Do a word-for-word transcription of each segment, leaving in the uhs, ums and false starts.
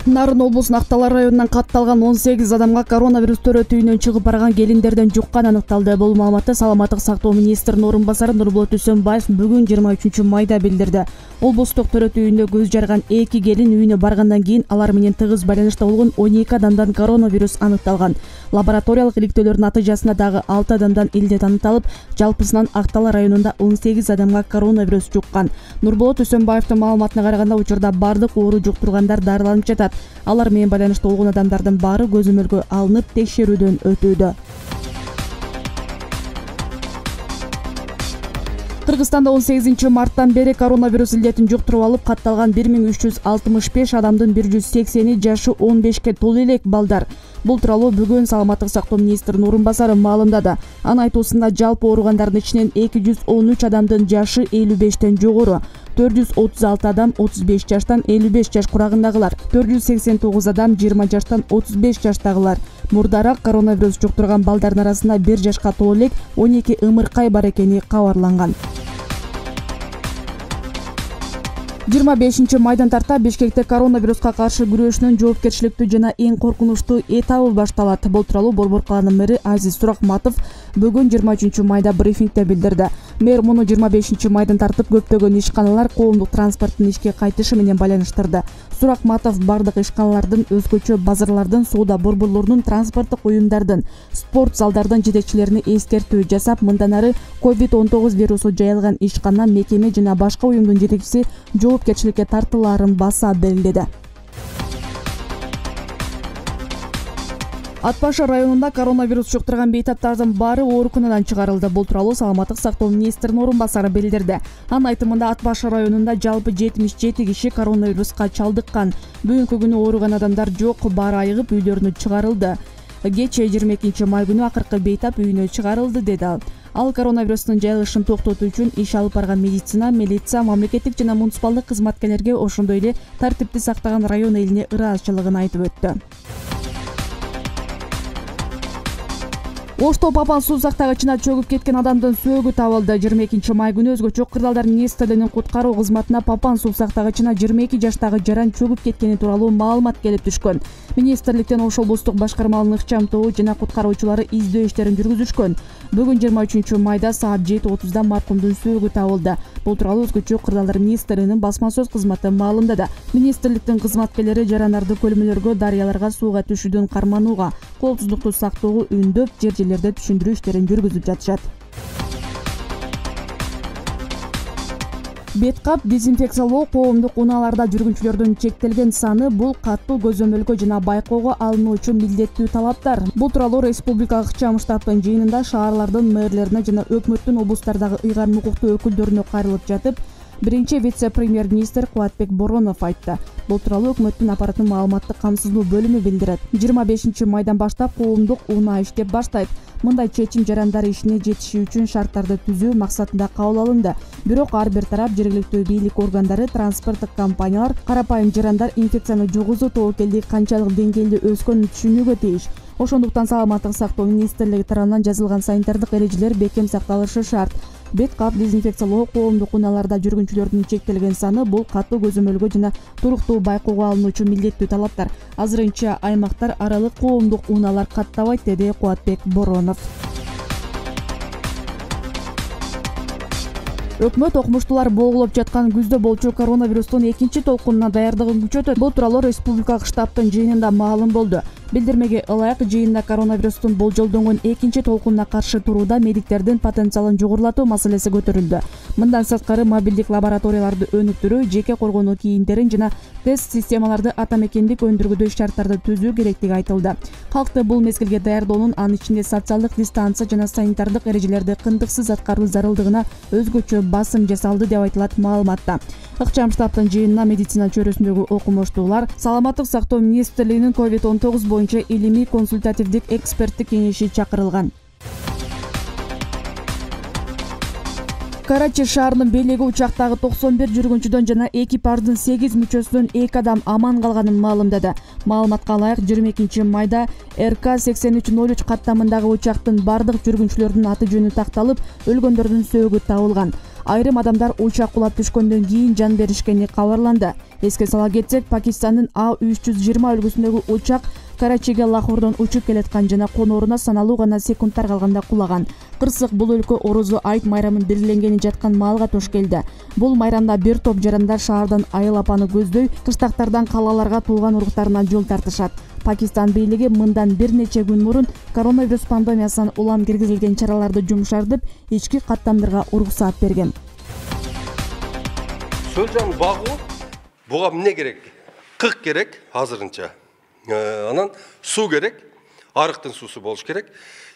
Нарын облусунун Актала районунан катталган он сегиз адамга коронавирус төрөтү үйүнөн чыгып барган келиндерден жуккан аныкталды. Бул маалыматты Саламаттык сактоо министринин орун басары Нурболот Үсөнбаев бүгүн жыйырма үчүнчү майда билдирди. Облустук төрөтү үйүндө көз жарган эки келин үйүнө баргандан кийин алар менен тыгыз байланышта болгон он эки адамдан коронавирус аныкталган. Лабораториялык иликтөөлөрдүн натыйжасында дагы алты адамдан илдет аныкталып, жалпысынан Актала районунда он сегиз адамга коронавирус жуккан. Нурболот Үсөнбаевдин маалыматына караганда, учурда бардык оору жуктургандар дарыланып жатат. Алар менен байланышта болгон адамдардын баары көзөмөлгө алынып, текшерүүдөн өтүүдө. Кыргызстанда он сегизинчи марттан бери коронавирус илдетин жуктуруп алып, катталган бир миң үч жүз алтымыш беш адамдын бир жүз сексени жашы он бешке толо элек балдар. Бул тууралуу бүгүн Саламаттык сактоо министринин орун басары маалымдады. Анын айтуусунда, жалпы ооругандардын ичинен эки жүз он үч адамдын жашы элүү бештен жогору, төрт жүз отуз алты адам отуз беш жаштан элүү беш жаш курагындагылар, төрт жүз сексен тогуз адам жыйырма жаштан отуз беш жаштагылар. Мурдараак коронавирус жуктурган балдардын арасында бир жашка толо элек он эки ымыркай бар экени кабарланган. жыйырма бешинчи майдан тарта Бишкекте коронавируска каршы күрөшүнүн жоопкерчиликтүү жана эң коркунучтуу этабы башталат. Бул тууралуу Борбор калаанын мэри Азиз Суракматов бүгүн жыйырма үчүнчү майда брифингде билдирди. Мэр муну жыйырма бешинчи майдан тартып көптөгөн ишканалар коомдук транспорттун ишке кайтышы менен байланыштырды. Суракматов бардык ишканалардын, өзгөчө базарлардын, соода борборлорунун, транспорттук уюмдардын, спорт залдардын жетекчилерине эскертүү жасап, мындан ары ковид он тогуз вирусу жайылган ишкана, мекеме жана башка уюмдун жетекчиси жоопкерчиликке тартылаарын баса белгиледи. Ат Башы районунда коронавирус жуктурган бейтаптардын баары ооруканадан чыгарылды. Бул тууралуу Саламаттык сактоо министринин орун басары билдирди. Анын айтымында, Ат Башы районунда жалпы жетимиш жети киши коронавируска чалдыккан. Бүгүнкү күнү ооруган адамдар жок, баары айыгып үйлөрүнө чыгарылды. Кечээ жыйырма экинчи май күнү акыркы бейтап үйүнө чыгарылды, деди ал. Ал коронавирустун жайылышын токтотуу үчүн иш алып барган медицина, милиция, мамлекеттик жана муниципалдык кызматкерлерге, ошондой эле тартипти сактаган район элине ыраазычылыгын айтып өттү. Ошто Папан суу сактагычына чөгүп кеткен адамдын сөөгү табылды. жыйырма экинчи май күнү өзгөчө кырдаалдар министрлигинин куткаруу кызматына Папан суу сактагычына жыйырма эки жаштагы жаран чөгүп кеткени тууралуу маалымат келип түшкөн. Министрликтен Ош облустук башкармалыгынын ыкчам тобу жана куткаруучулары издөө иштерин жүргүзүшкөн. Бүгүн жыйырма үчүнчү майда саат жети отузда маркумдун сөөгү табылды. Бул тууралуу өзгөчө кырдаалдар министрлигинин басма сөз кызматы маалымдады. Министрликтин кызматкерлери жарандарды көлмөлөргө, дарыяларга сууга түшүүдөн карманууга, коопсуздукту сактоого үндөп, жер жерлерде түшүндүрүү иштерин жүргүзүп жатышат. Бет кап, дезинфекциялоо коомдук унааларда жүргүнчүлөрдүн чектелген саны, бул каттуу көзөмөлгө жана байкоого алынуу үчүн милдеттүү талаптар. Бул тууралуу республикалык ыкчам штабтын жыйынында шаарлардын мэрлерине жана өкмөттүн облустардагы ыйгарым укуктуу өкүлдөрүнө кайрылып жатып, биринчи вице-премьер-министр Кубатбек Боронов айтты. Бул тууралуу өкмөттүн аппараттын маалыматтык камсыздоо бөлүмү билдирет. жыйырма бешинчи майдан баштап коомдук унаа иштеп баштайт. Мындай чечим жарандар ишине жетиши үчүн шарттарды түзүү максатында кабыл алынды. Бирок ар бир тарап, жергиликтүү бийлик органдары, транспорттук компаниялар карапайым жарандар инфекцияны жугузуу тобокелдиги канчалык деңгээлде өскөнүн түшүнүүгө тийиш. Ошондуктан Саламаттык сактоо министрлиги тарабынан жазылган санитардык эрежелер бекем сакталышы шарт. Бет кап, дезинфекциялоо коомдук унааларда жүргүнчүлөрдүн чектелген саны, бул каттуу көзөмөлгө жана туруктуу байкоого алынуу үчүн милдеттүү талаптар. Азырынча аймактар аралык коомдук унаалар каттабайт, деди Кубатбек Боронов. Өкмөт окумуштуулар болгулоп жаткан күздө болчу коронавирустун экинчи толкунуна даярдыгын күчөтөт. Бул тууралуу республикалык штабтын жыйынында маалым болду. Билдирмеге ылайык, жыйында коронавирустун болжолдонгон экинчи толкунуна каршы турууда медиктердин потенциалын жогорулатуу маселеси көтөрүлдү. Мындан сырткары, мобилдик лабораторияларды өнүктүрүү, жеке коргонуу кийимдерин жана тест системаларды ата мекендик өндүргүдө шарттарды түзүү керектиги айтылды. Калкты бул мезгилге даярдоонун, анын ичинде социалдык дистанция жана санитардык эрежелерди кындыксыз аткаруу зарылдыгына өзгөчө басым жасалды, деп айтылат маалыматта. Ыкчам штабтын жыйынына медицина чөйрөсүндөгү окумуштуулар, Саламаттык сактоо министрлигинин ковид он тогуз боюнча илимий консультативдик эксперттик кеңеши чакырылган. Карачи шаарынын бийлиги учактагы токсон бир жүргүнчүдөн жана экипаждын сегиз мүчөсүнөн эки адам аман калганын маалымдады. Маалыматка ылайык жыйырма экинчи майда эр ка сексен үч ноль үч каттамындагы учактын бардык жүргүнчүлөрүнүн аты жөнү такталып, өлгөндөрдүн сөөгү табылган. Айрым адамдар учак кулап түшкөндөн кийин жан беришкени кабарланды. Эске сала кетсек, Пакистандын А үч жүз жыйырма үлгүсүндөгү учак Карачиге Лахордон учуп келаткан жана конооруна саналуу гана секундтар калганда кулаган. Кырсык бул өлкө орозо айт майрамын белгиленгени жаткан маалга туш келди. Бул майрамда бир топ жарандар шаардан айыл апаны көздөй, кыштактардан калаларга туулган уруктарына жол тартышат. Пакистан бийлиги мындан бир нече күн мурун коронавирус пандемиясынан улам киргизилген чараларды жумшартып, ички каттамдарга уруксаат берген. Сөлжан багуу буга эмне керек? Кык керек азырынча. Анан суу керек, арыктын суусу болуш керек.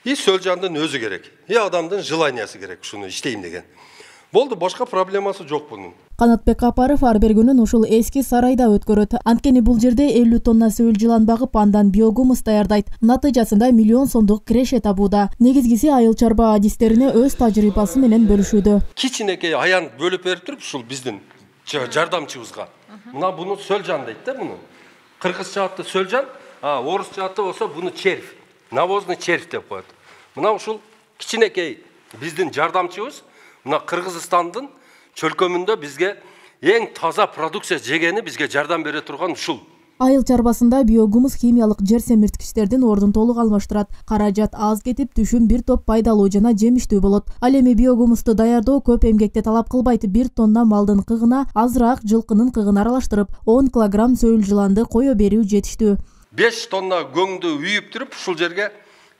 И сөлжандын өзү керек. И адамдын желаниясы керек ушуну иштейм деген. Болду, башка проблемасы жок бунун. Канатбек Апаров ар бир күнүн ушул эски сарайда өткөрөт. Анткени бул жерде элүү тонна сөөл жылан багып, андан биогумус даярдайт. Натыйжасында миллион сомдук киреше табууда. Негизгиси айыл чарба адистерине өз тажрыйбасы менен бөлүшүүдө. Кичинекей аян бөлүп берип туруп ушул биздин жардамчыбызга. Мына буну сөлжан дейт да буну. Кыргызча аты сөлжан, а орусча аты болсо буну червь. Навозный червь деп коет. Мына ушул кичинекей биздин жардамчыбыз мына Кыргызстандын чөлкөмүндө бизге эң таза продукция жегени бизге жардам бере турган ушул. Айыл чарбасында биогумус химиялык жер семирткичтердин ордун толук алмаштырат. Каражат аз кетип, түшүм бир топ пайдалуу жана жемиштүү болот. Ал эми биогумусту даярдоо көп эмгекти талап кылбайт. бир тонна малдын кыгына азыраак жылкынын кыгын аралаштырып, он килограмм сөөл жыланды кое берүү жетиштүү. беш тонна көңдү үйүп туруп, ушул жерге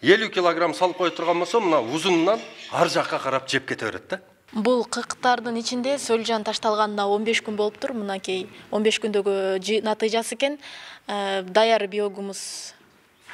элүү килограмм салып кое турган болсо, мына узунунан ар жакка карап жеп кете берет да. Бул кыктардын ичинде сөлжан ташталганына он беш күн болуптур. Мынакей он беш күндөгү натыйжасы экен. Даяр биогумус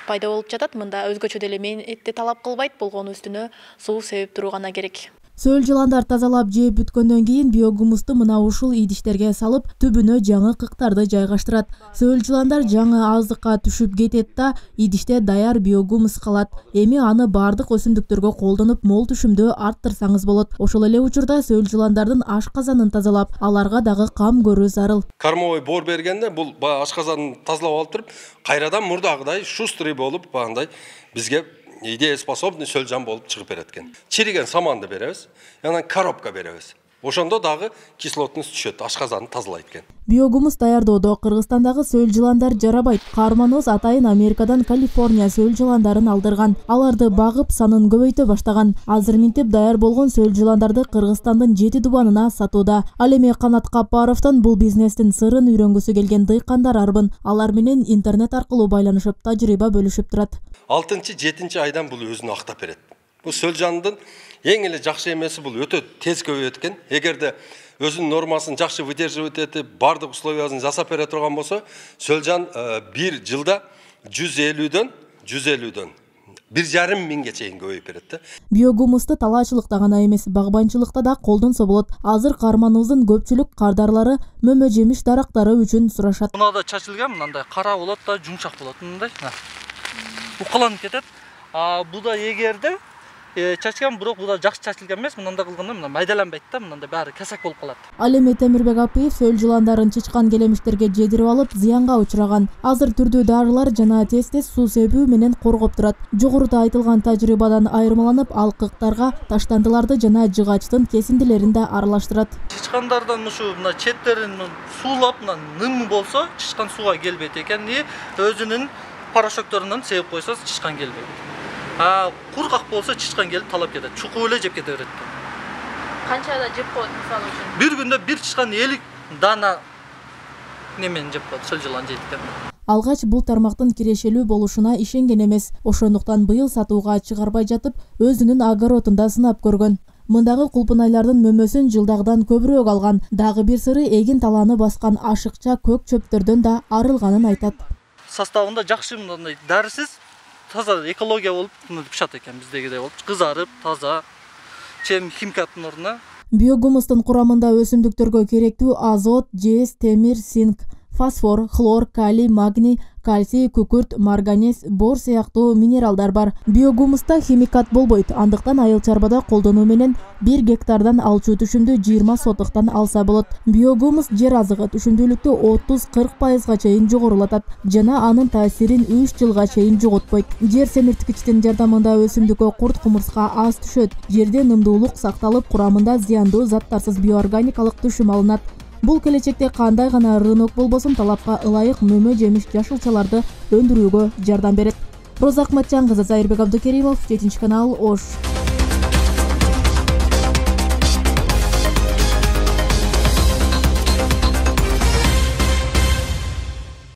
пайда болуп жатат. Мында өзгөчө деле мээнетти талап кылбайт, болгону үстүнө суу себип туруу гана керек. Сөөл жыландар тазалап жеп бүткөндөн кийин биогумусту мына ушул идиштерге салып, түбүнө жаңы кыктарды жайгаштырат. Сөөл жыландар жаңы аздыкка түшүп кетет да, идиште даяр биогумус калат. Эми аны бардык өсүмдүктөргө колдонуп, мол түшүмдү арттырсаңыз болот. Ошол эле учурда сөөл жыландардын ашказанын тазалап, аларга дагы кам көрүү зарыл. Кормовой бор бергенде бул ашказанын тазалап алып туруп, кайрадан мурдагыдай шустрый болуп, багындай бизге идееспособный сөлжан болуп чыгып берет экен. Чириген саманды беребиз, анан коробка беребиз. Ошондо дагы кислотность түшөт, ашказанды тазалайт экен. Биогумус даярдоодо Кыргызстандагы сөөл жыландар жарабайт. Карманоз атайын Америкадан Калифорния сөөл жыландарын алдырган. Аларды багып, санын көбөйтө баштаган. Азыр минтип даяр болгон сөөл жыландарды Кыргызстандын жети дубанына сатууда. Ал эми Канат Капаровдон бул бизнестин сырын үйрөнгүсү келген дыйкандар арбын. Алар менен интернет аркылуу байланышып, тажрыйба бөлүшүп турат. алтынчы жетинчи айдан бул өзүн актап берет. Бул сөлжандын эң эле жакшы эмеси бул өтө тез көбөйөт экен. Эгерде өзүнүн нормасын жакшы выдерживать этип, бардык условиясын жасап бере турган болсо, сөлжан бир жылда жүз элүүдөн жүз элүүдөн бир жарым миңге чейин көбөйүп берет да. Биогумусту талаачылыкта гана эмес, багбанчылыкта да колдонсо болот. Азыр карманыбыздын көпчүлүк кардарлары мөмө жемиш дарактары үчүн сурашат. Мунада чачылган мындай кара болот да, жумшак болот мындай. Укаланып кетет. А буда эгерде чачкан, бирок буда жакшы чачылган эмес, мындай кылганда мына майдаланбайт да, мындай баары кесек болуп калат. Ал эми Темирбек Апиев сөөл жыландарын чычкан келемиштерге жедирип алып, зыянга учураган. Азыр түрдүү дарылар жана тез-тез суу себүү менен коргоп турат. Жогоруда айтылган тажрыйбадан айырмаланып, ал кыктарга таштандыларды жана жыгачтын кесиндилерин да аралаштырат. Чычкандардан ушу мына четтерин суулап, мына ным болсо, чычкан сууга келбейт экен. И өзүнүн порошокторунан себип койсо, чычкан келбейт. А кургак болсо чычкан келип талап кетет. Чукуп эле жеп кете берет. Канчада жеп коет мисалы үчүн? Бир күндө бир чычкан элүү дана немен жеп коет, сөл жылан жейт экен. Алгач бул тармактын кирешелүү болушуна ишенген эмес. Ошондуктан быйыл сатууга чыгарбай жатып, өзүнүн огородунда сынап көргөн. Мындагы кулпунайлардын мөмөсүн жылдагыдан көбүрөөк алган. Дагы бир сыры эгин талааны баскан ашыкча көк чөптөрдөн да арылганын айтат. Составында жакшы мындай дарысыз, таза экология болуп пышат экен, биздегидей болуп, кызарып, таза, чем химкаттын ордуна. Биогумустун курамында өсүмдүктөргө керектүү азот, жез, темир, цинк, фосфор, хлор, калий, магний, кальций, күкүрт, марганец, бор сыяктуу минералдар бар. Биогумуста химикат болбойт, андыктан айыл чарбада колдонуу менен бир гектардан алчу түшүмдү жыйырма сотуктан алса болот. Биогумус жер азыгы түшүмдүүлүктү отуз кырк пайызга чейин жогорулатат жана анын таасирин үч жылга чейин жоготпойт. Жер семирткичтин жардамында өсүмдүккө курт кумурска аз түшөт. Жерде нымдуулук сакталып, курамында зыяндуу заттарсыз биоорганикалык түшүм алынат. Бул келечекте кандай гана рынок болбосун талапка ылайык мөмө жемиш жашылчаларды өндүрүүгө жардам берет. Роза Акматжан кызы, Зайырбек Абдыкеримов, жетинчи канал, Ош.